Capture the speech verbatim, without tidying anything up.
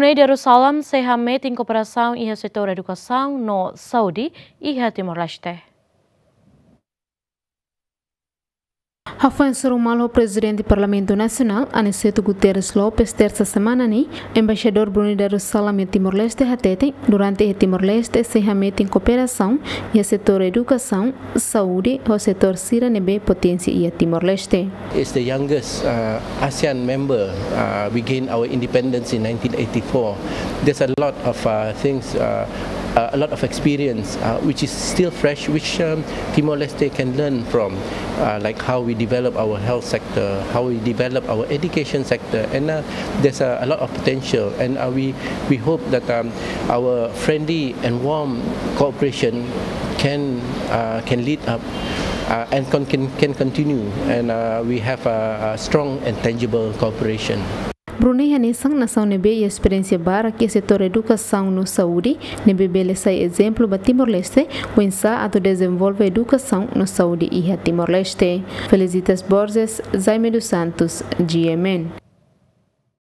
Brunei Darussalam sei hametin kooperasaun iha setór edukasaun no saúde iha Timor-Leste. Hafoin hasoru malu ho Prezidente Parlamentu Nasionál, Aniceto Guterres Lopes, tersa semana ne'e, Embaixadór Brunei Darussalam iha Timor-Leste hateten, durante iha Timor-Leste sei hametin kooperasaun iha setór edukasaun, saúde, ho setór sira ne'ebé poténsia iha Timor-Leste. Is the youngest uh, ASEAN member. Uh, we gained our independence in nineteen eighty-four. There's a lot of uh, things, uh, uh, a lot of experience uh, which is still fresh, which um, Timor-Leste can learn from, uh, like how we develop our health sector, how we develop our education sector, and uh, there's a, a lot of potential. And uh, we we hope that um, our friendly and warm cooperation can uh, can lead up uh, and con- can, can continue, and uh, we have a, a strong and tangible cooperation. Brunei hanesan nasaun ne'ebé iha esperiénsia barak iha setór edukasaun no saúde, ne'ebé bele sai ezemplu ba Timor-Leste, oinsá atu dezenvolve edukasaun no saúde iha Timor-Leste. Felicitas Borges, Jaime dos Santos, G M N.